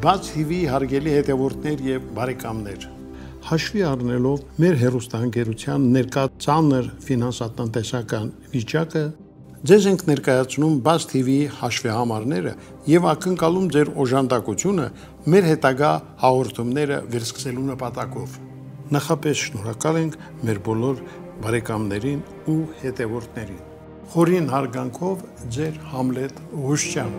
Բաց TV հարգելի հետևորդներ եւ բարեկամներ, հաշվի առնելով մեր հեռուստաընկերության ներկա ծանր ֆինանսատնտեսական վիճակը, ձեզ ենք ներկայացնում Բաց TV հաշվեհամարները եւ ակնկալում ձեր օժանդակությունը մեր հետագա հաղորդումները վերսկսելու նպատակով։ Նախապես շնորհակալ ենք մեր բոլոր բարեկամներին ու հետևորդներին։ Խորին հարգանքով ձեր Համլետ Ղուշյան։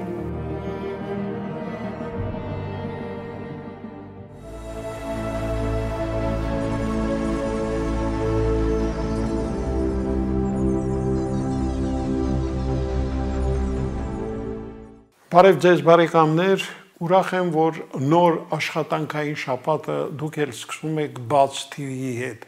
Բարև ձեզ բարեկամներ, ուրախ եմ, որ նոր աշխատանքային շաբաթը դուք էլ սկսում եք Բաց TV-ի հետ։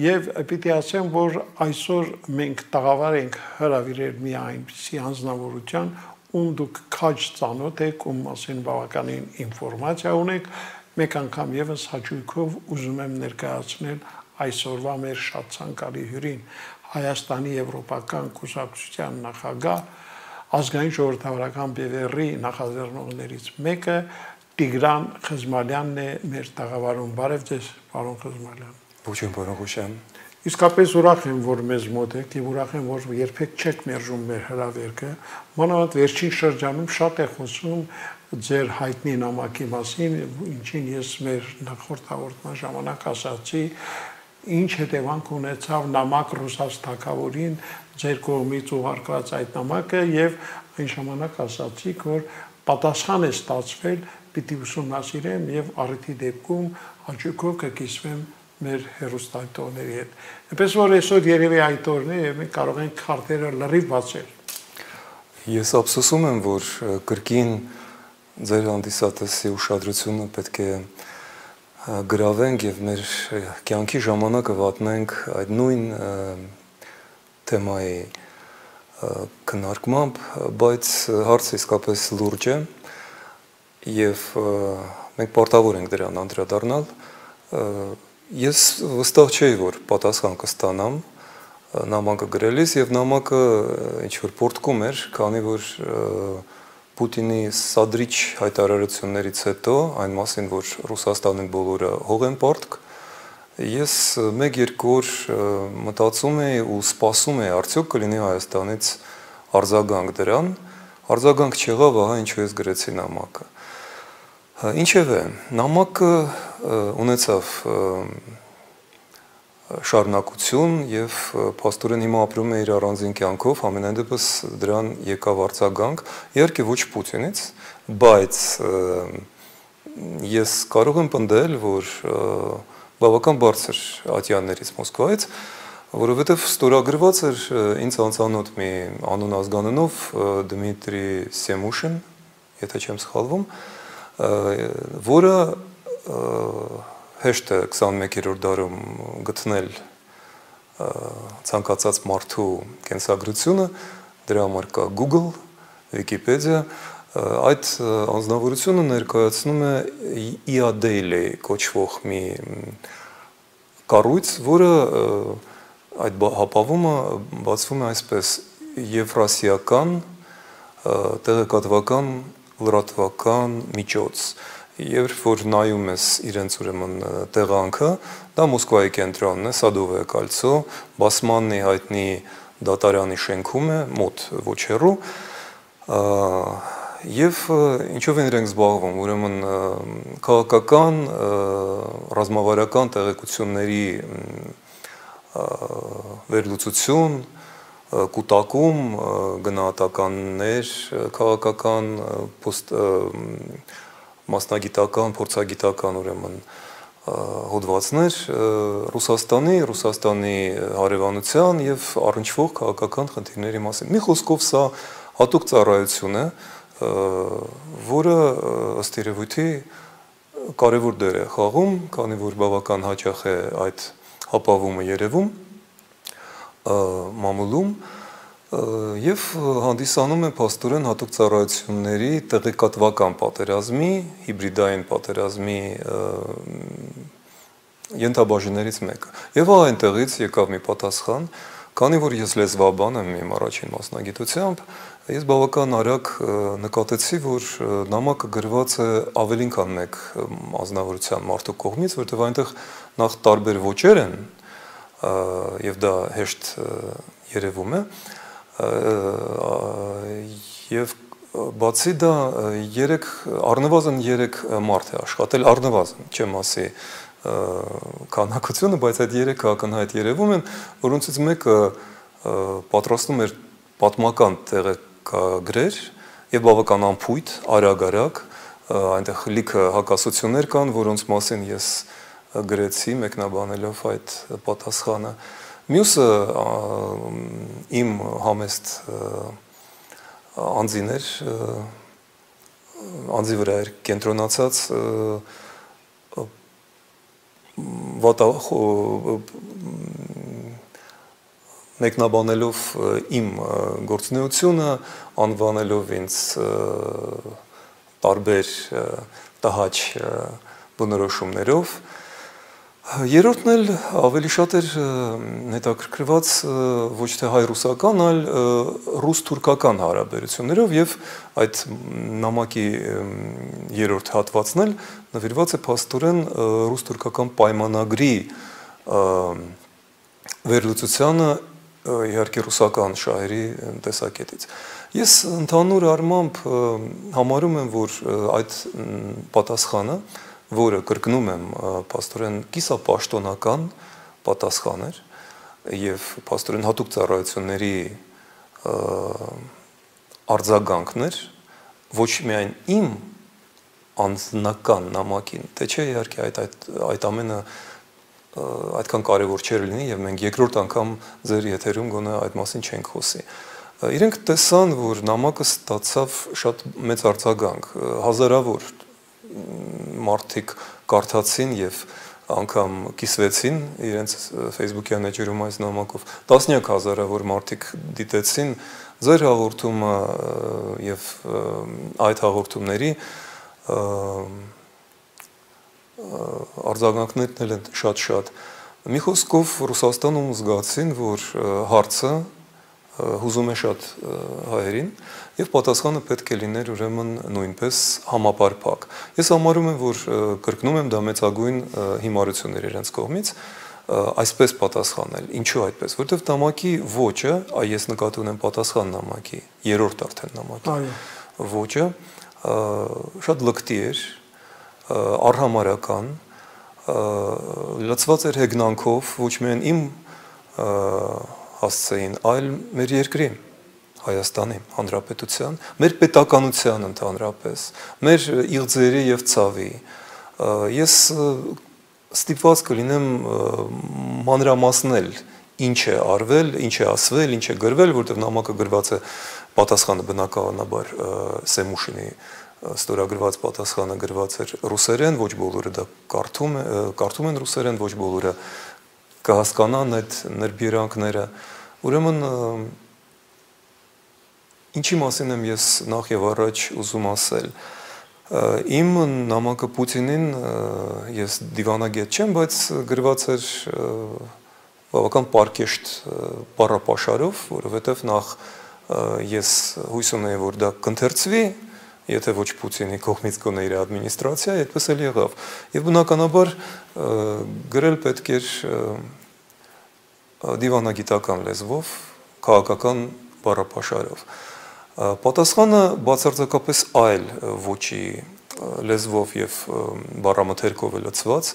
Եվ պիտի ասեմ, որ այսօր մենք տաղավար ենք հրավիրել մի այնպիսի անձնավորության, ում դուք քաջ ծանոթ եք, ում մասին բավականին ինֆորմացիա ունեք, մեկ անգամ եւս հաճույքով ուզում եմ ներկայացնել այսօրվա մեր շատ ցանկալի հյուրին, Հայաստանի Եվրոպական կուսակցության նախագահ, ազգային ժողովրդավարական բևեռի նախաձեռնողներից մեկը Տիգրան Խզմալյանն է մեր տաղավարում։ Բարև ձեզ, պարոն Խզմալյան։ Ողջույն, պարոն Ղուշյան։ Իսկապես ուրախ եմ, որ մեզ մոտ եք եւ ուրախ եմ, որ երբեք չեք մերժում մեր հրավերքը։ Մանավանդ վերջին շրջանում շատ է խոսում ձեր հայտնի նամակի մասին, ինչին ես մեր նախորդ հաղորդման ժամանակ ասացի, ինչ հետևանք ունեցավ նամակ ռուսաց թագավորին ձեր կողմից ուղարկված այդ նամակը եւ այն ժամանակ ասացիք, որ պատասխան է ստացվել, պիտի ուսումնասիրեմ եւ առիթի դեպքում հաճույքով կկիսվեմ մեր հեռուստադիտողների հետ։ Այնպես որ այսօր երևի այդ օրն է եւ մենք կարող ենք քարտերը լրիվ բացել։ Ես ափսոսում եմ, որ կրկին ձեր հանդիսատեսի ուշադրությունը պետք է գրավենք եւ մեր կյանքի ժամանակը վատնենք այդ նույն թեմայի քննարկմամբ, բայց հարցը իսկապես լուրջ է եւ մենք պարտավոր ենք դրան անդրադառնալ։ Ես վստահ չէի, որ պատասխան կստանամ նամակը գրելիս եւ նամակը ինչ որ պորտկում էր, քանի որ Պուտինի սադրիչ հայտարարություններից հետո, այն մասին, որ Ռուսաստանի բոլորը հող են պարտք, ես մեկ-երկու օր մտածում էի ու սպասում էի, արդյոք կլինի Հայաստանից արձագանք դրան, արձագանք չեղավ, ահա ինչու ես գրեցի նամակը։ Ինչևէ, նամակը ունեցավ շարունակություն եւ փաստորեն հիմա ապրում է իր առանձին կյանքով, ամենայն դեպս դրան եկավ արձագանք, իհարկե ոչ Պուտինից, բայց ես կարող եմ պնդել, որ բավական բարձր ատյաններից Մոսկվայից, որովհետեւ ստորագրված էր ինձ անծանոթ մի անուն ազգանունով Դմիտրի Սեմուշին, եթե չեմ սխալվում, որը հեշտ է 21-րդ դարում գտնել ցանկացած մարդու կենսագրությունը, դրա համար կա Google, Wikipedia, այդ անձնավորությունը ներկայացնում է IA Daily կոչվող մի կառույց, որը այդ հապավումը բացվում է այսպես եվրասիական տեղեկատվական լրատվական միջոց։ Երբ որ նայում ես իրենց ուրեմն տեղանքը, դա Մոսկվայի կենտրոնն է, Սադովое կольцо, Բասմաննի հայտնի դատարանի շենքում է, մոտ ոչ հեռու, եւ ինչով են իրենք զբաղվում, ուրեմն քաղաքական, ռազմավարական տեղեկությունների վերլուծություն, կուտակում, գնահատականներ, քաղաքական, մասնագիտական, փորձագիտական ուրեմն հոդվածներ Ռուսաստանի հարևանության եւ առնչվող քաղաքական խնդիրների մասին։ Մի խոսքով սա հատուկ ծառայություն է, որը ըստ երևույթի կարևոր դեր է խաղում, քանի որ բավական հաճախ է այդ հապավումը երևում մամուլում եւ հանդիսանում է փաստորեն հատուկ ծառայությունների տեղեկատվական պատերազմի, հիբրիդային պատերազմի ենթաբաժիններից մեկը։ Եվ այնտեղից եկավ մի պատասխան, Քանի որ ես լեզվաբան եմ իմ առաջին մասնագիտությամբ, ես բավական արագ նկատեցի, որ նամակը գրված է ավելին քան մեկ ազնվորության մարդու կողմից, որտեղ այնտեղ նախ տարբեր ոճեր են, եւ դա հեշտ երևում է, եւ բացի դա առնվազն 3 մարդ է աշխատել, առնվազն, չեմ ասի քանակությունը, բայց այդ 3-ը ակնհայտ երևում են, որոնցից մեկը պատրաստում էր պատմական տեղեկագրեր եւ բավական անփույթ, արագ, այնտեղ լիքը հակասություններ կան, որոնց մասին ես գրեցի մեկնաբանելով այդ պատասխանը։ Մյուսը իմ համեստ անձիներ, անձի վրա էր կենտրոնացած մեկնաբանելով իմ գործունեությունը, անվանելով ինձ տարբեր տհաճ բնորոշումներով։ Երրորդն էլ ավելի շատ էր հետաքրքրված ոչ թե հայ-ռուսական, այլ ռուս-թուրքական հարաբերություններով եւ այդ նամակի երրորդ հատվածն էլ նվիրված է փաստորեն ռուս-թուրքական պայմանագրի վերլուծությանը իհարկե ռուսական շահերի տեսակետից։ Ես ընդհանուր առմամբ համարում եմ, որ այդ պատասխանը, որը կրկնում եմ, փաստորեն կիսապաշտոնական պատասխան էր եւ փաստորեն հատուկ ծառայությունների արձագանքն էր, ոչ միայն իմ անձնական նամակին, թե չէ իհարկե այդ ամենը այդքան կարևոր չէր լինի եւ մենք երկրորդ անգամ ձեր եթերում գոնե այդ մասին չենք խոսի։ Իրենք տեսան, որ նամակը ստացավ շատ մեծ արձագանք, հազարավոր մարդիկ կարդացին եւ անգամ կիսվեցին իրենց Facebook-յան էջերում այս նամակով, տասնյակ հազարավոր մարդիկ դիտեցին ձեր հաղորդումը եւ այդ հաղորդումների արձագանքներն են շատ։ Մի խոսքով Ռուսաստանում զգացին, որ հարցը հուզում է շատ հայերին եւ պատասխանը պետք է լիներ ուրեմն նույնպես համապարփակ։ Ես համարում եմ, որ կրկնում եմ դա մեծագույն հիմարություններ իրենց կողմից այսպես պատասխանել։ Ինչու այդպես, որովհետեւ նամակի ոճը, ես նկատի ունեմ պատասխան նամակի, երրորդ արդեն նամակի ոճը շատ լկտի էր, արհամարական, լցված էր հեգնանքով, ոչ միայն իմ հասցեին, այլ մեր երկրի, Հայաստանի Հանրապետության, մեր պետականության ընդհանրապես, մեր իղձերի եւ ցավի։ Ես ստիպված կլինեմ մանրամասնել ինչ է արվել, ինչ է ասվել, ինչ է գրվել, որտեղ նամակը գրված է պատասխանը բնականաբար Սեմուշինի ստորագրված պատասխանը գրված էր ռուսերեն, ոչ բոլորը դա կարդում են ռուսերեն, ոչ բոլորը կհասկանան այդ նրբերանգները։ Ուրեմն ինչի մասին եմ ես նախ եւ առաջ ուզում ասել։ Իմ նամակը Պուտինին ես դիվանագետ չեմ, բայց գրված էր բավական պարկեշտ բառապաշարով, որովհետեւ նախ ես հույս ունեի, որ դա կընթերցվի, եթե ոչ Պուտինի կողմից գոնե իր ադմինիստրացիա, այդպես էլ եղավ։ Եվ բնականաբար գրել պետք էր դիվանագիտական լեզվով, քաղաքական բառապաշարով։ Պատասխանը բացարձակապես այլ ոճի լեզվով եւ բառամթերքով է լցված,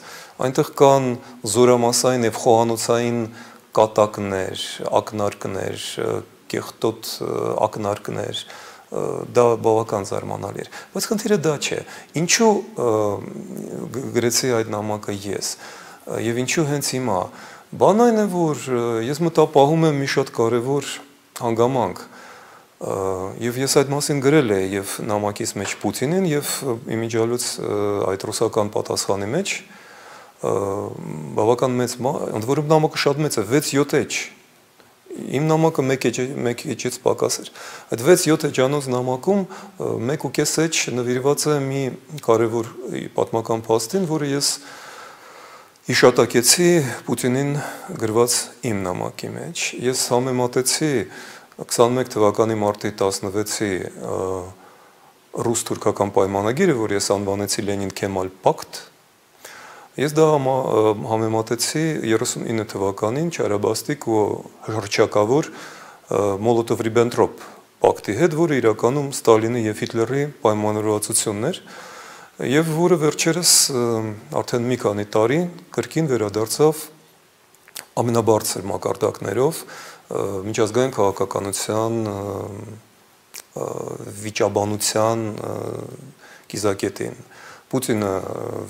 այնտեղ կան զորամասային եւ խոհանոցային կատակներ, ակնարկներ, կեղտոտ ակնարկներ, դա բավական զարմանալի էր, բայց խնդիրը դա չէ։ Ինչու գրեցի այդ նամակը ես եւ ինչու հենց հիմա։ Բան այն է, որ ես մտապահում եմ մի շատ կարևոր հանգամանք եւ ես այդ մասին գրել եմ եւ նամակից մեջ Պուտինին եւ իմիջիալուց այդ ռուսական պատասխանի մեջ բավական մեծ, ընդ որում նամակը շատ մեծ է, 6-7 էջ։ Իմ նամակը 1 էջից պակաս էր։ Այդ 6-7 էջանոց նամակում 1.5 էջ նվիրված է մի կարևոր պատմական փաստին, որը ես Իշատակեցի Պուտինին գրված իմ նամակի մեջ։ Ես համեմատեցի 21 թվականի մարտի 16-ի ռուս-թուրքական պայմանագիրը, որ ես անվանեցի Լենին-Քեմալ պակտ, ես դա համեմատեցի 39 թվականին Չարաբաստիկ ու հռչակավոր Մոլոտով-Ռիբենտրոպ պակտի հետ, որը իրականում Ստալինի եւ Հիտլերի պայմանավորվածությունն էր, եւ որը վերջերս արդեն մի քանի տարի կրկին վերադարձավ ամենաբարձր մակարդակներով միջազգային քաղաքականության վիճաբանության կիզակետին։ Պուտինը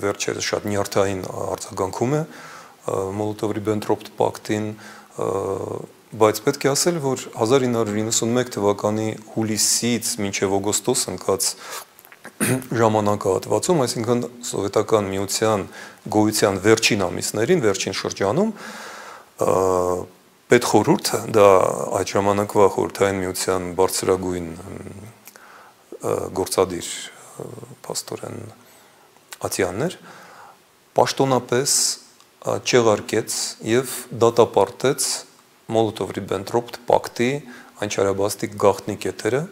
վերջերս շատ նյարդային արձագանքում է Մոլոտով-Ռիբենտրոպ պակտին, բայց պետք է ասել, որ 1991 թվականի հուլիսից մինչև օգոստոս ընկած ժամանակահատվածում, այսինքն սովետական միության գոյության վերջին ամիսներին, վերջին շրջանում, պետխորհուրդը, դա այդ ժամանակվա խորհրդային միության բարձրագույն գործադիր փաստորեն ատյաններ, պաշտոնապես չեղարկեց եւ դատապարտեց Մոլոտով-Ռիբենտրոպ պակտի այն չարաբաստիկ գաղտնի կետերը,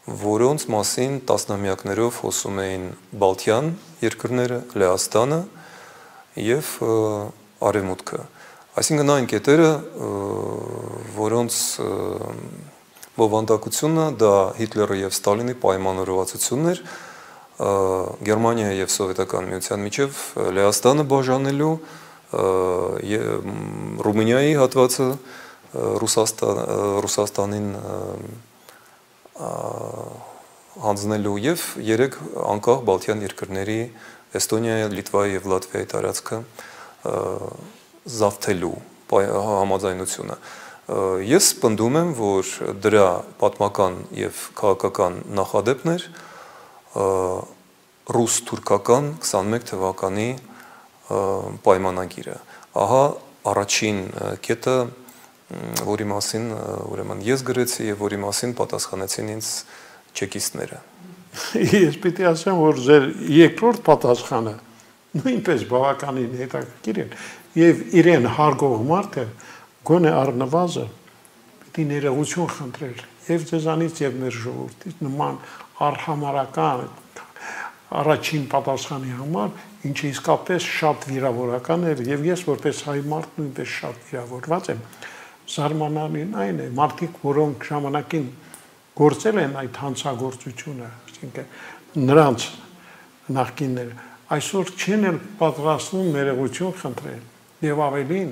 որոնց մասին տասնամյակներով խոսում էին Բալթյան երկրները, Լեհաստանը եւ Արևմուտքը։ Այսինքն այն կետերը, որոնց բովանդակությունը դա Հիտլերի եւ Ստալինի պայմանավորվածությունն էր Գերմանիայի եւ Սովետական միության միջև Լեհաստանը բաժանելու, Ռումինիայի հատվածը Ռուսաստանին հանձնելու եւ 3 անկախ Բալթյան երկրների Էստոնիայի, Լիտվայի եւ Լատվիայի տարածքը զավթելու համաձայնությունը։ Ես պնդում եմ, որ դրա պատմական եւ քաղաքական նախադեպն էր ռուս-թուրքական 21 թվականի պայմանագիրը։ Ահա առաջին կետը, որի մասին ուրեմն ես գրեցի եւ որի մասին պատասխանեցին ինձ չեկիստները։ Ես պիտի ասեմ, որ ձեր երկրորդ պատասխանը նույնպես բավականին հետաքրքիր է եւ իրեն հարգող մարդը գոնե առնվազն պիտի ներողություն խնդրեր եւ ձեզանից եւ մեր ժողովրդից նման արհամարական առաջին պատասխանի համար, ինչը իսկապես շատ վիրավորական էր եւ ես որպես հայ մարդ նույնպես շատ վիրավորված եմ։ Զարմանալին այն է, մարդիկ, որոնք ժամանակին գործել են այդ հանցագործությունը, այսինքն նրանց նախկինները, այսօր չեն էլ պատրաստվում ներողություն խնդրել եւ ավելին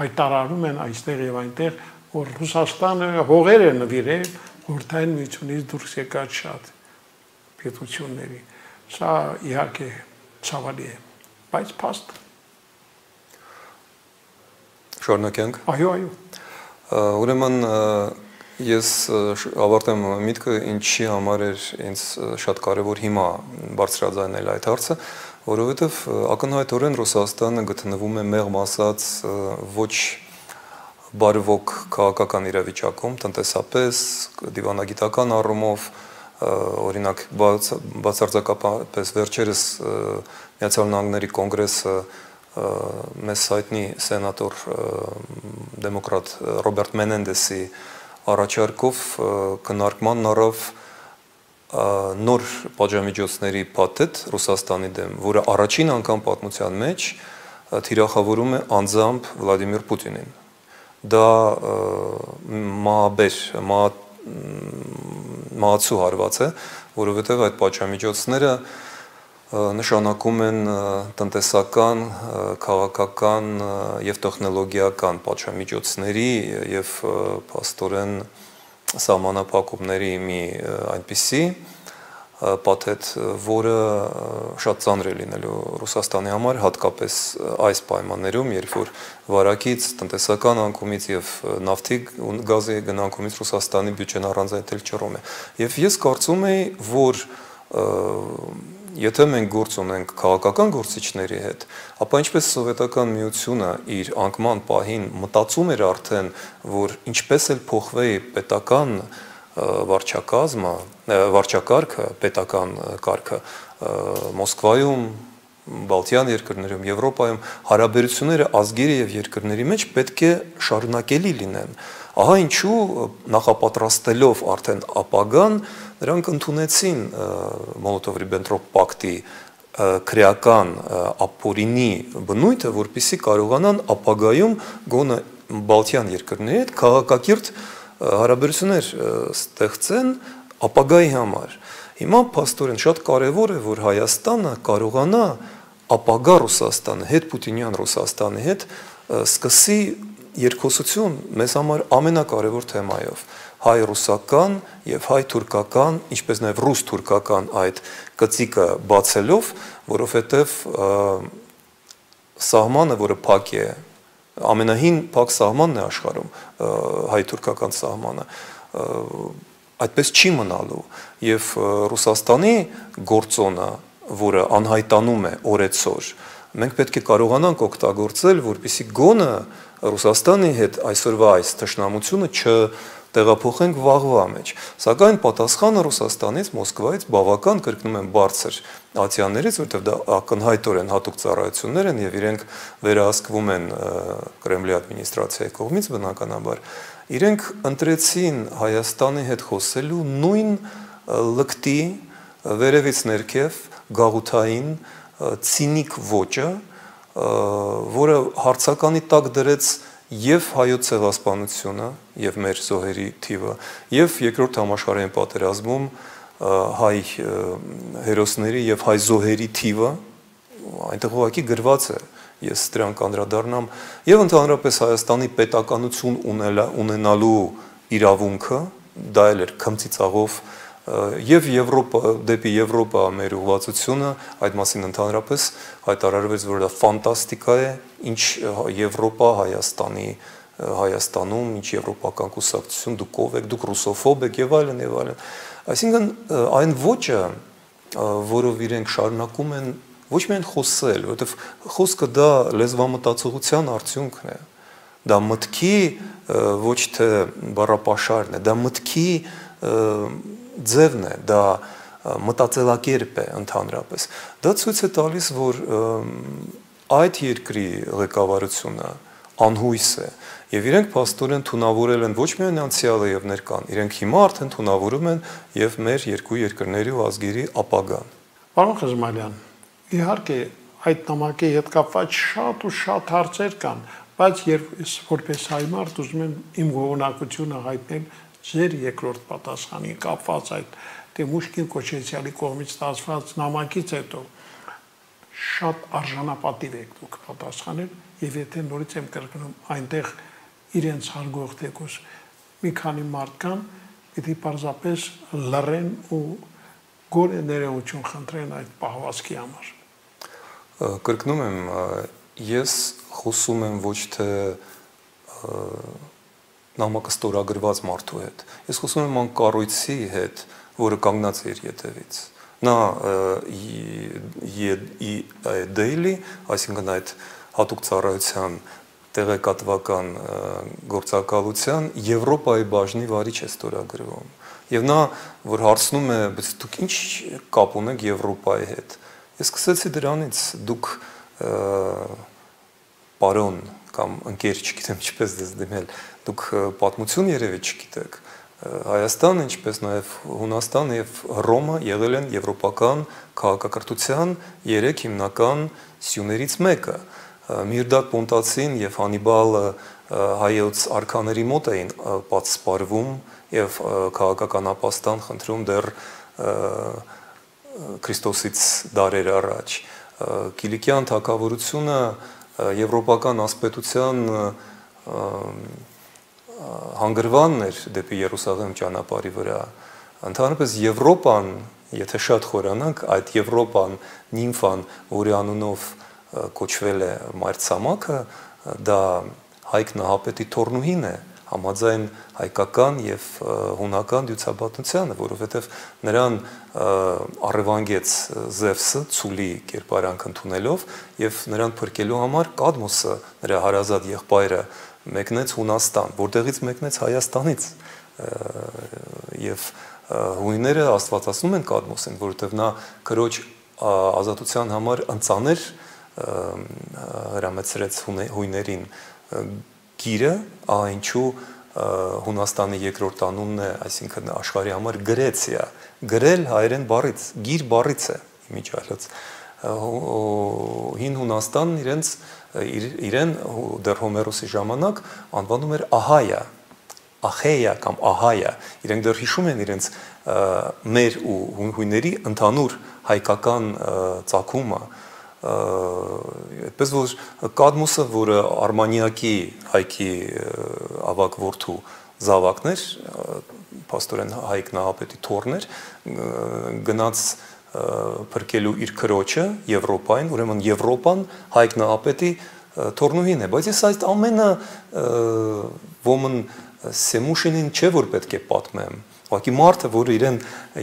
հայտարարում են այստեղ եւ այնտեղ, որ Ռուսաստանը հողեր է նվիրել խորհրդային միությունից դուրս եկած շատ պետությունների։ Սա իհարկե ցավալի է, բայց փաստ։ Շարունակենք։ Այո, այո։ Ուրեմն ես ավարտեմ միտքը, ինչի համար էր ինձ շատ կարևոր հիմա բարձրաձայնել այդ հարցը, որովհետև ակնհայտորեն Ռուսաստանը գտնվում է մեղմ ասած ոչ բարվոք քաղաքական իրավիճակում, տնտեսապես, դիվանագիտական առումով, օրինակ բացարձակապես վերջերս Միացյալ Նահանգների կոնգրեսը մեզ հայտնի սենատոր դեմոկրատ Ռոբերտ Մենենդեսի առաջարկով քննարկման առավ նոր պատժամիջոցների փաթեթ Ռուսաստանի դեմ, որը առաջին անգամ պատմության մեջ թիրախավորում է անձամբ Վլադիմիր Պուտինին։ Դա մահացու հարված է, որովհետև այդ պատժամիջոցները նշանակում են տնտեսական, քաղաքական եւ տեխնոլոգիական պատժամիջոցների եւ փաստորեն սահմանափակումների մի այնպիսի փաթեթ, որը շատ ծանր է լինելու Ռուսաստանի համար, հատկապես այս պայմաններում, երբ որ վարակից, տնտեսական անկումից եւ նավթի ու գազի գնանկումից Ռուսաստանի բյուջեն առանձնացել ճռում է։ Եվ ես կարծում եի, որ եթե մենք գործ ունենք քաղաքական գործիչների հետ, ապա ինչպես Սովետական միությունը իր անկման պահին մտածում էր արդեն, որ ինչպես էլ փոխվի պետական վարչակարգը, պետական կարգը Մոսկվայում, Բալթյան երկրներում, Եվրոպայում հարաբերությունները ազգերի եւ երկրների մեջ պետք է շարունակելի լինեն։ Ահա ինչու նախապատրաստելով արդեն ապագան, նրանք ընդունեցին Մոլոտով-Ռիբենտրոպ պակտի քրեական ապօրինի բնույթը, որպեսզի կարողանան ապագայում գոնե Բալթյան երկրների հետ քաղաքակիրթ հարաբերություններ ստեղծեն ապագայի համար։ Հիմա փաստորեն շատ կարևոր է, որ Հայաստանը կարողանա ապագա Ռուսաստանը, հետպուտինյան Ռուսաստանի հետ սկսի երկխոսություն մեզ համար ամենակարևոր թեմայով, հայ-ռուսական եւ հայ-թուրքական, ինչպես նաեւ ռուս-թուրքական այդ գծիկը բացելով, որովհետեւ սահմանը, որը փակ է, ամենահին փակ սահմանն է աշխարհում, հայ-թուրքական սահմանը, այդպես չի մնալու եւ Ռուսաստանի գործոնը, որը անհայտանում է օրեցօր, մենք պետք է կարողանանք օգտագործել, որպեսզի գոնը Ռուսաստանի հետ այսօրվա այս թշնամությունը չտեղափոխենք վաղվա մեջ։ Սակայն պատասխանը Ռուսաստանից, Մոսկվայից բավական կրկնում են բարձր ացիաներից, որտեղ դա ակնհայտորեն հատուկ ծառայություններ են եւ իրենք վերահսկվում են Կրեմլի ադմինիստրացիայի կողմից բնականաբար, իրենք ընտրեցին Հայաստանի հետ խոսելու նույն լկտի վերևից ներքև գաղութային ցինիկ ոճը, որը հարցականի տակ դրեց եւ հայոց ցեղասպանությունը եւ մեր զոհերի թիվը եւ երկրորդ համաշխարհային պատերազմում հայ հերոսների եւ հայ զոհերի թիվը այնտեղ ուղղակի գրված է, ես դրան կանդրադառնամ եւ ընդհանրապես Հայաստանի պետականություն ունենալու իրավունքը, դա էլ էր քմծիծաղով եւ Եվրոպա դեպի Եվրոպա մեր ուղղվածությունը, այդ մասին ընդհանրապես հայտարարվեց, որ դա ֆանտաստիկա է, ինչ Եվրոպա Հայաստանում, ինչ եվրոպական կուսակցություն, դուք ով եք, դուք ռուսոֆոբ եք եւ այլն եւ այլն։ Այսինքն այն ոճը, որով իրենք շարունակում են ոչ միայն խոսել, որովհետեւ խոսքը դա լեզվամտածողության արդյունքն է, դա մտքի ոչ թե բառապաշարն է, դա մտքի ձևն է, դա մտածելակերպ է ընդհանրապես։ Դա ցույց է տալիս, որ այդ երկրի ղեկավարությունը անհույս է եւ իրենք փաստորեն թունավորել են ոչ միայն անցյալը եւ ներկան, իրենք հիմա արդեն թունավորում են եւ մեր երկու երկրների ու ազգերի ապագան։ Պարոն Խզմալյան, իհարկե այդ նամակի հետ կապված շատ ու շատ հարցեր կան, բայց ես որպես հայ մարդ ուզում եմ իմ գոհունակությունը հայտնել ձեր երկրորդ պատասխանի կապված այդ Տեմուշկին Կոչեցյալի կողմից ստացված նամակից հետո շատ արժանապատիվ եք դուք պատասխանել եւ եթե նորից եմ կրկնում այնտեղ իրենց հարգող թեկուս մի քանի մարդկան պիտի պարզապես լռեն ու գոնե ներողություն խնդրեն այդ պահվածքի համար։ Կրկնում եմ, ես խոսում եմ ոչ թե նամակը ստորագրված մարդու հետ, ես խոսում եմ անկառույցի հետ, որը կանգնած է իր ետևից։ Նա daily, այսինքն այդ հատուկ ծառայության տեղեկատվական գործակալության Եվրոպայի բաժնի վարիչ է ստորագրվում։ Եվ նա, որ հարցնում է, բայց դուք ինչ կապ ունեք Եվրոպայի հետ։ Ես սկսեցի դրանից, դուք պարոն կամ ընկեր, չգիտեմ ինչպես դες դիմել, դուք պատմություն երևի չգիտեք։ Հայաստանը, ինչպես նաև Հունաստանը եւ Հռոմը եղել են եվրոպական քաղաքակրթության 3 հիմնական սյուներից մեկը։ Միրդատ Պոնտացին եւ Հանիբալը հայոց արքաների մոտ էին պատսպարվում եւ քաղաքական ապաստան խնդրում դեռ Քրիստոսից դարեր առաջ։ Կիլիկյան թագավորությունը եվրոպական ասպետության հանգրվանն էր դեպի Երուսաղեմ ճանապարհի վրա։ Ընդհանրապես Եվրոպան, եթե շատ խորանանք, այդ Եվրոպան, նիմֆան, որի անունով կոչվել է մայրցամաքը, դա Հայկ Նահապետի թորնուհին է, համաձայն հայկական եւ հունական դյուցաբանությանը, որովհետեւ նրան առևանգեց Զևսը ցուլի կերպարանք ընդունելով եւ նրան փրկելու համար Կադմոսը, նրա հարազատ եղբայրը, մեկնեց Հունաստան, որտեղից մեկնեց Հայաստանից եւ հույները աստվածացնում են Կադմոսին, որովհետեւ նա քրոջ ազատության համար ընծաներ հրամեցրեց հույներին գիրը, ինչու Հունաստանի երկրորդ անունն է, այսինքն աշխարհի համար Գրեցիա, գրել հայերեն բառից, գիր բառից է իմիջիալից։ Հին Հունաստանն իրեն դեռ Հոմերոսի ժամանակ անվանում էր Ահայա, Ախեյա կամ Ահայա, իրենք դեռ հիշում են իրենց մեր ու հույների ընդհանուր հայկական ծագումը, այդպես որ Կադմոսը, որը Արմանիակի հայքի ավագ որդու զավակն էր, փաստորեն Հայկ Նահապետի թոռն էր, գնաց փրկելու իր քրոջը Եվրոպային, ուրեմն Եվրոպան Հայկ Նահապետի թոռնուհին է, բայց ես այդ ամենը ոմն Սեմուշինին չէ որ պետք է պատմեմ, ուղղակի մարդը, որը իրեն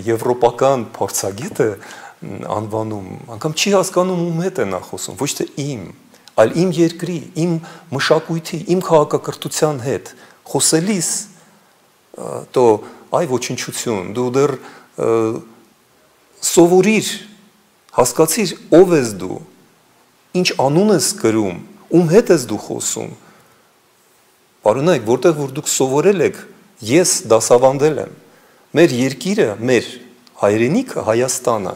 եվրոպական փորձագետ է անվանում, անգամ չի հասկանում ում հետ է նա խոսում, ոչ թե իմ, այլ իմ երկրի, իմ մշակույթի, իմ քաղաքակրթության հետ խոսելիս, то այ ոչնչություն, դու դեռ սովորիր, հասկացիր ով ես դու, ինչ անուն ես կրում, ում հետ ես դու խոսում, պարոնայք, որտեղ որ դուք սովորել եք, ես դասավանդել եմ, մեր երկիրը, մեր հայրենիքը, Հայաստանը,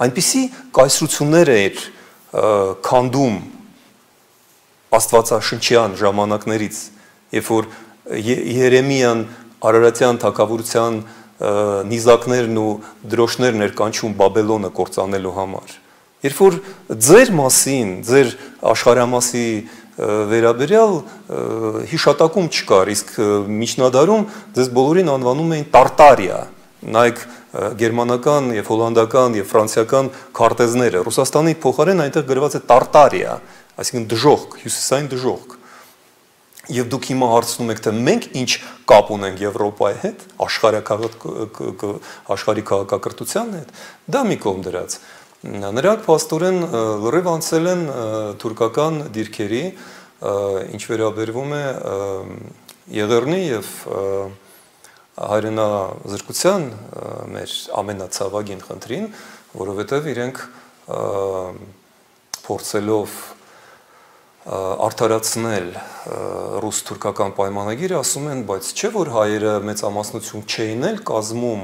այնպիսի կայսրություններ էր քանդում աստվածաշնչյան ժամանակներից, երբ որ Երեմիան Արարատյան թագավորության նիզակներն ու դրոշներն էր կանչում Բաբելոնը կործանելու համար, երբ որ ձեր մասին, ձեր աշխարհամասի վերաբերյալ հիշատակում չկար, իսկ միջնադարում ձեզ բոլորին անվանում էին Տարտարիա, նայեք գերմանական եւ հոլանդական եւ ֆրանսիական քարտեզները, Ռուսաստանի փոխարեն այնտեղ գրված է Տարտարիա, այսինքն դժոխք, հյուսիսային դժոխք։ Եվ դուք հիմա հարցնում եք, թե մենք ինչ կապ ունենք Եվրոպայի հետ, աշխարհի քաղաքակրթության հետ, դա մի կողմ դրած։ Նրանք փաստորեն լրիվ անցել են թուրքական դիրքերի, ինչ վերաբերվում է Եղեռնի եւ հայրենազրկության մեր ամենացավագին խնդրին, որովհետև իրենք փորձելով արդարացնել ռուս-թուրքական պայմանագիրը, ասում են, բայց չէ որ հայերը մեծամասնություն չէին էլ կազմում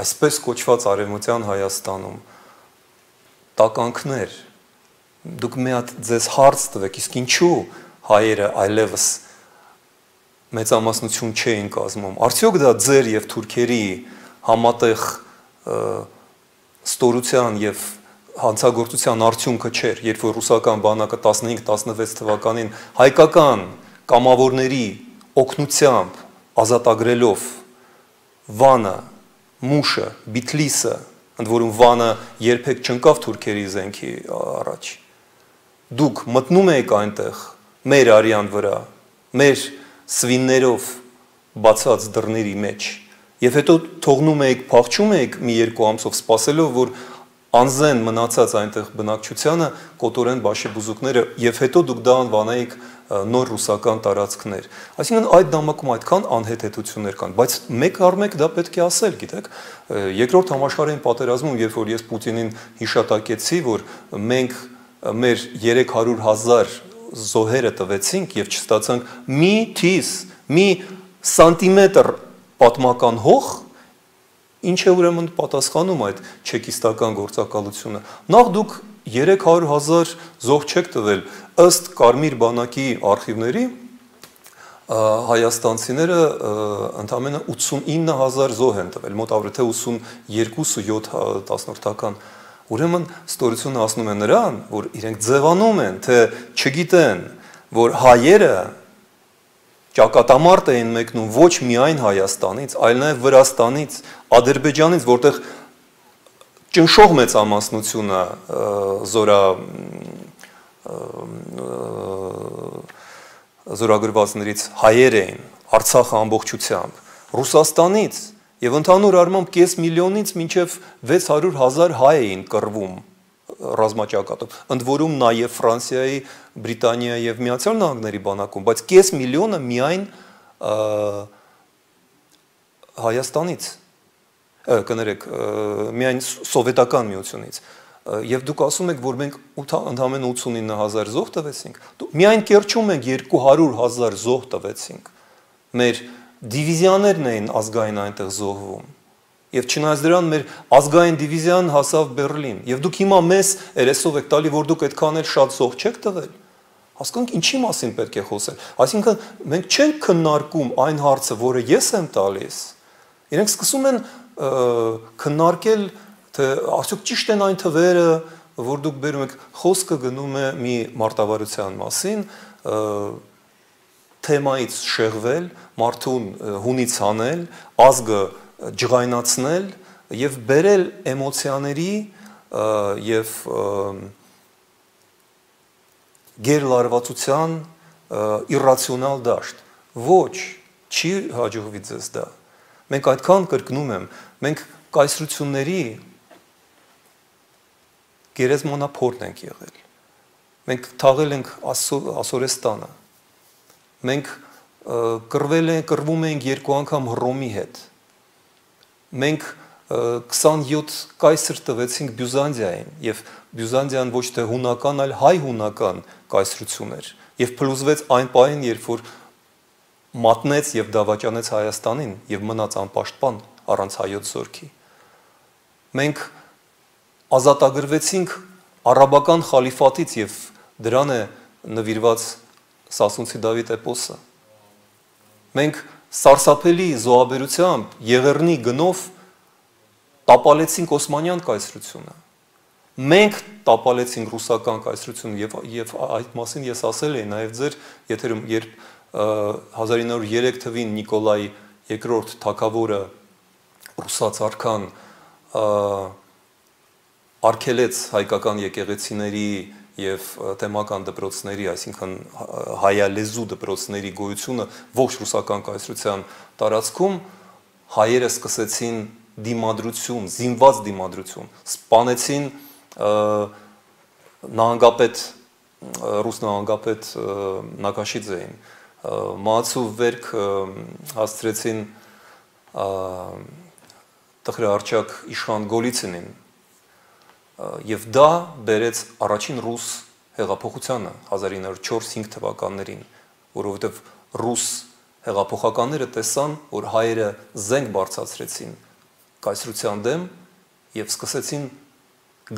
այսպես կոչված արևմտյան Հայաստանում, տականքներ, դուք մի հատ ձեզ հարց տվեք, իսկ ինչու հայերը այլևս մեծամասնություն չէին կազմում, արդյոք դա ձեր և թուրքերի համատեղ ստորության և հանցագործության արդյունքը չէր, երբ որ ռուսական բանակը 15-16 թվականին հայկական կամավորների օգնությամբ ազատագրելով Վանը, Մուշը, Բիթլիսը, ընդ որում Վանը երբեք չընկավ թուրքերի զենքի առաջ, դուք մտնում եք այնտեղ մեր արյան վրա, մեր սվիններով բացած դռների մեջ եւ հետո թողնում եք, փախչում եք մի երկու ամսով սպասելով, որ անզեն մնացած այնտեղ բնակչությանը կոտորեն բաշեբուզուկները եւ հետո դուք դա անվանեիք նոր ռուսական տարածքներ։ Այսինքն այդ նամակում այդքան անհեթեթություններ կան, բայց մեկ առ մեկ դա պետք է ասել, գիտեք, երկրորդ համաշխարհային պատերազմում, երբ որ ես Պուտինին հիշատակեցի, որ մենք մեր 300,000 զոհերը տվեցինք եւ չստացանք մի թիս, մի սանտիմետր պատմական հող, ինչ է ուրեմն պատասխանում այդ չեկիստական գործակալությունը։ Նախ դուք 300,000 զոհ չեք տվել, ըստ Կարմիր բանակի արխիվների հայաստանցիները ընդամենը 89,000 զոհ են տվել, մոտ ավելի 82-7 Ուրեմն ստորությունը ասնում է նրան, որ իրենք ձևանում են, թե չգիտեն, որ հայերը ճակատամարտ էին մեկնում ոչ միայն Հայաստանից, այլ նաև Վրաստանից, Ադրբեջանից, որտեղ ճնշող մեծամասնությունը զորագրվածներից հայեր էին, Արցախը ամբողջությամբ, Ռուսաստանից եւ ընդհանուր առմամբ կես միլիոնից մինչեւ 600,000 հայ էին կռվում ռազմաճակատով, ընդ որում նաև Ֆրանսիայի, Բրիտանիայի եւ Միացյալ Նահանգների բանակում, բայց կես միլիոնը միայն Հայաստանից։ կներեք, միայն սովետական միությունից։ Եվ դուք ասում եք, որ մենք ընդամենը 89000 զոհ տվեցինք, միայն Կերչում մենք 200,000 զոհ տվեցինք։ Մեր դիվիզիաներն էին ազգային այնտեղ զոհվում։ Եվ չնայած դրան մեր ազգային դիվիզիան հասավ Բերլին։ Եվ դուք հիմա մեզ երեսով եք տալի, որ դուք այդքան էլ շատ զոհ չեք տվել։ Հասկանք ինչի մասին պետք է խոսել։ Այսինքն մենք չենք քննարկում այն հարցը, որը ես եմ տալիս։ Իրենք սկսում են քննարկել, թե արդյոք ճիշտ են այն թվերը, որ դուք բերում եք, խոսքը գնում է մի մարտավարության մասին, թեմայից շեղվել, մարդուն հունից հանել, ազգը ջղայնացնել եւ բերել էմոցիաների եւ գերլարվածության իրրացիոնալ դաշտ։ Ոչ, չի հաջողվի ձեզ դա։ Մենք այդքան կրկնում եմ, մենք կայսրությունների գերեզմանափորն ենք եղել։ Մենք թաղել ենք Ասորեստանը։ Մենք կռվում ենք 2 անգամ Հռոմի հետ։ Մենք 27 կայսր տվեցինք Բյուզանդիային, եւ Բյուզանդիան ոչ թե հունական, այլ հայ-հունական կայսրություն էր, եւ փլուզվեց այն պահին, երբ որ մատնեց եւ դավաճանեց Հայաստանին եւ մնաց անպաշտպան առանց հայոց զորքի։ Մենք ազատագրվեցինք արաբական խալիֆատից եւ դրան է նվիրված Սասունցի Դավիթ էպոսը։ Մենք սարսափելի զոհաբերությամբ Եղեռնի գնով տապալեցինք Օսմանյան կայսրությունը։ Մենք տապալեցինք ռուսական կայսրությունը եւ այդ մասին ես ասել էի նաեւ ձեր եթերում, երբ 1903 թվին Նիկոլայ II թագավորը ռուսաց արքան արգելեց հայկական եկեղեցիների եւ թեմական դպրոցների, այսինքն հայալեզու դպրոցների գոյությունը ողջ ռուսական կայսրության տարածքում, հայերը սկսեցին դիմադրություն, զինված դիմադրություն, սպանեցին նահանգապետ, ռուս նահանգապետ Նակաշիձեին, մահացու վերք հասցրեցին տխրահարճակ իշխան Գոլիցինին, եւ դա բերեց առաջին ռուս հեղափոխությանը 1904-5 թվականներին, որովհետեւ ռուս հեղափոխականները տեսան, որ հայերը զենք բարձրացրեցին կայսրության դեմ եւ սկսեցին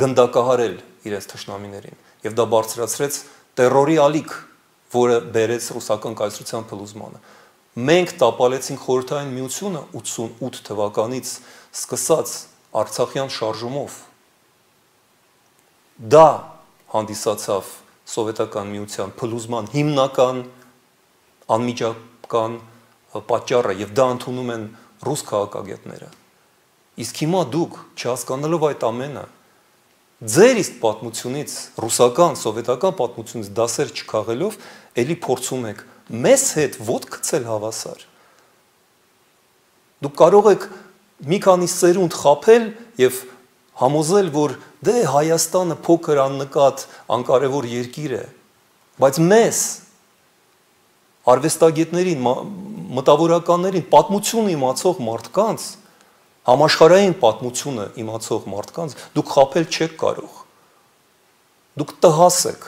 գնդակահարել իրենց թշնամիներին, եւ դա բարձրացրեց տերորի ալիք, որը բերեց ռուսական կայսրության փլուզմանը։ Մենք տապալեցինք Խորհրդային Միությունը 88 թվականից սկսած Արցախյան շարժումով։ Դա հանդիսացավ սովետական միության փլուզման հիմնական անմիջական պատճառը եւ դա ընդունում են ռուս քաղաքագետները։ Իսկ հիմա դուք չհասկանալով այդ ամենը, ձեր իսկ պատմությունից, ռուսական, սովետական պատմությունից դասեր չքաղելով, ելի փորձում եք մեզ հետ ոտք գցել հավասար։ Դուք կարող եք մի քանի սերունդ խաբել եւ համոզել, որ դե Հայաստանը փոքր աննկատ անկարևոր երկիր է, բայց մեզ արվեստագետներին, մտավորականներին, պատմություն իմացող մարդկանց, համաշխարհային պատմությունը իմացող մարդկանց դուք խաբել չեք կարող։ Դուք տհաս եք։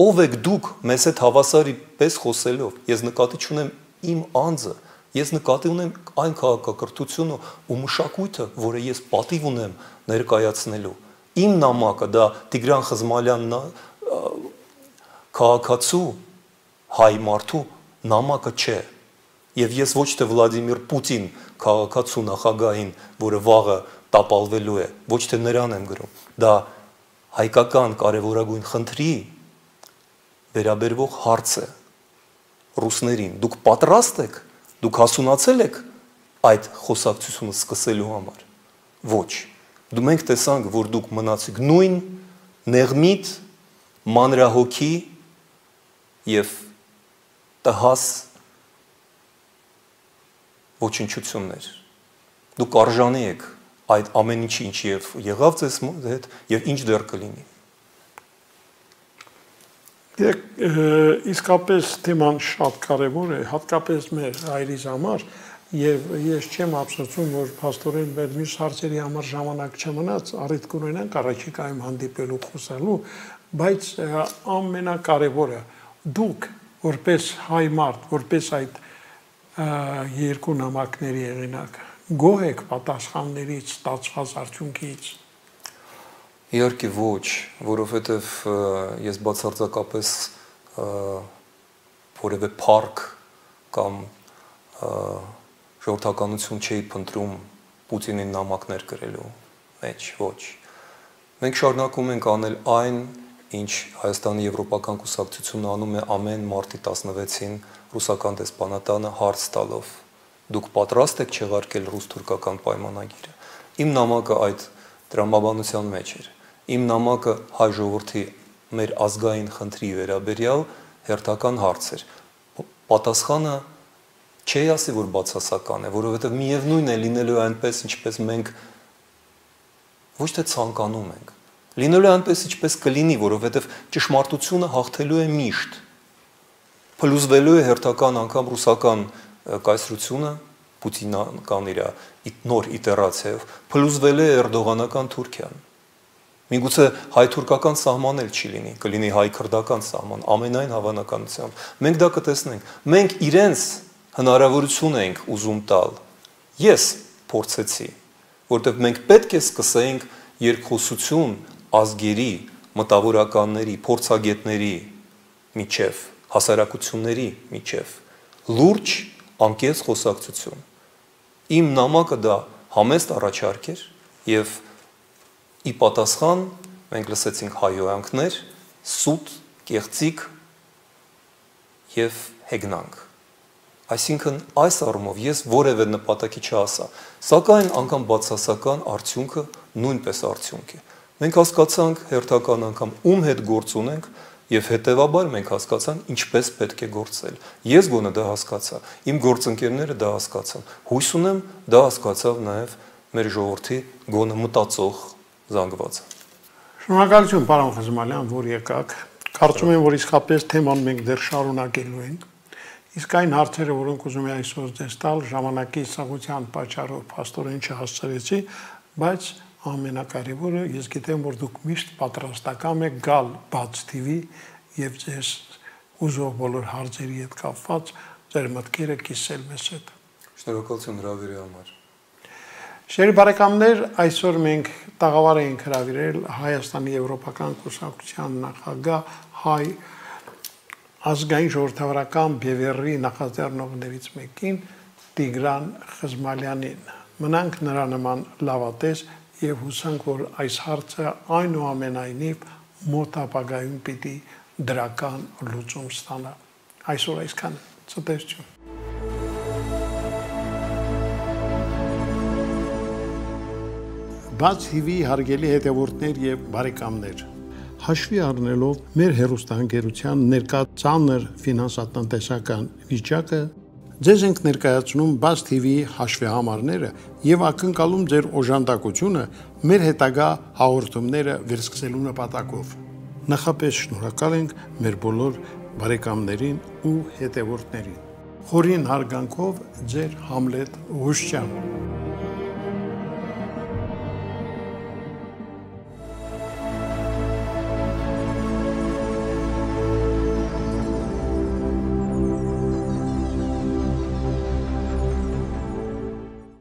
Ով եք դուք մեզ հետ հավասարի պես խոսելով։ Ես նկատի չունեմ իմ անձը, ես նկատի ունեմ այն քաղաքակրթությունը ու մշակույթը, որը ես պատիվ ունեմ ներկայացնելու։ Իմ նամակը դա Տիգրան Խզմալյանն քաղաքացու հայ մարդու նամակը չէ։ Եվ ես ոչ թե Վլադիմիր Պուտին քաղաքացու նախագահին, որը վաղը տապալվելու է, ոչ թե նրան եմ գրում։ Դա հայկական կարևորագույն խնդրի վերաբերվող հարց է ռուսներին։ Դուք պատրաստ եք, դուք հասունացել եք այդ խոսակցությունը սկսելու համար։ Ոչ։ Դու մենք տեսանք, որ դուք մնացիք նույն նեղմիտ, մանրահոգի եւ տհաս ոչնչություններ։ Դուք արժանի եք այդ ամեն ինչի, ինչ եղավ ձեզ հետ եւ ինչ դեռ կլինի։ Իսկապես թեման շատ կարևոր է, հատկապես մեր հայրից համար, Եվ ես չեմ ափսոսում, որ փաստորեն մեր մյուս հարցերի համար ժամանակ չմնաց, առիթ կունենանք առաջիկայում հանդիպելու խոսալու, բայց ամենակարևորը դուք որպես հայ մարդ, որպես այդ երկու նամակների եղինակ, գոհ եք պատասխաններից, ստացված արդյունքից։ Իհարկե ոչ, որովհետև ես բացարձակապես որևէ փառք կամ ժողովրդականություն չէի փնտրում Պուտինին նամակներ գրելու մեջ, ոչ։ Մենք շարունակում ենք անել այն, ինչ Հայաստանի Եվրոպական կուսակցությունը անում է ամեն մարտի 16-ին ռուսական դեսպանատանը հարց տալով։ Դուք պատրաստ եք չեղարկել ռուս-թուրքական պայմանագիրը։ Իմ նամակը այդ տրամաբանության մեջ էր։ Իմ նամակը հայ ժողովրդի մեր ազգային խնդրի վերաբերյալ հերթական հարց էր։ Պատասխանը չի ասի, որ բացասական է, որովհետև միևնույն է լինելու այնպես, ինչպես մենք ոչ թե ցանկանում ենք։ Լինելու այնպես, ինչպես կլինի, որովհետև ճշմարտությունը հաղթելու է միշտ։ Փլուզվելու է հերթական անգամ ռուսական կայսրությունը, պուտինական իր նոր իտերացիայով, փլուզվել է էրդողանական Թուրքիան։ Միգուցե հայ-թուրքական սահման էլ չի լինի, կլինի հայ-քրդական սահման, ամենայն հավանականությամբ։ Մենք դա կտեսնենք։ Մենք իրենց հնարավորություն ենք ուզում տալ։ Ես փորձեցի, որտեղ մենք պետք է սկսենք երկխոսություն ազգերի, մտավորականների, փորձագետների միջև, հասարակությունների միջև, լուրջ անկեղծ խոսակցություն։ Իմ նամակը դա համեստ առաջարկ էր եւ ի պատասխան մենք լսեցինք հայհոյանքներ, սուտ, կեղծիք եւ հեգնանք։ Այսինքն այս առումով ես որևէ նպատակի չհասա, սակայն անգամ բացասական արդյունքը նույնպես արդյունք է։ Մենք հասկացանք հերթական անգամ ում հետ գործ ունենք եւ հետեւաբար մենք հասկացանք ինչպես պետք է գործել։ Ես գոնե դա հասկացա, իմ գործընկերները դա հասկացան։ Հույս ունեմ դա հասկացավ նաեւ մեր ժողովրդի գոնե մտածող զանգվածը։ Շնորհակալություն, պարոն Խզմալյան, որ եկաք։ Կարծում եմ, որ իսկապես թեման մենք դեռ շարունակելու ենք։ Իսկ այն հարցերը, որոնք ուզում եմ այսօր ձեզ տալ, ժամանակի սաղության պատճառով փաստորեն չհասցրեցի, բայց ամենակարևորը ես գիտեմ, որ դուք միշտ պատրաստական եք գալ բաց TV եւ ձեզ ուզող բոլոր հարցերի հետ կապված ձեր մտքերը կիսել մեզ հետ։ Շնորհակալություն հրավերի համար։ Շերի բարեկամներ, այսօր մենք տաղավար ենք հրավիրել Հայաստանի Եվրոպական կուսակցության նախագահ հայ ազգային ժողովրդավարական բևեռի նախաձեռնողներից մեկին Տիգրան Խզմալյանին։ Մնանք նրա նման լավատես եւ հուսանք, որ այս հարցը այնուամենայնիվ մոտ ապագայում պիտի դրական լուծում ստանա։ Այսօր այսքան։ Ցտեսություն։ Բաց TV հարգելի հետևորդներ եւ բարեկամներ, հաշվի առնելով մեր հեռուստաընկերության ներկա ծանր ֆինանսատնտեսական վիճակը, ձեզ ենք ներկայացնում Բաց TV հաշվեհամարները եւ ակնկալում ձեր օժանդակությունը մեր հետագա հաղորդումները վերսկսելու նպատակով։ Նախապես շնորհակալ ենք մեր բոլոր բարեկամներին ու հետևորդներին։ Խորին հարգանքով ձեր Համլետ Ղուշյան։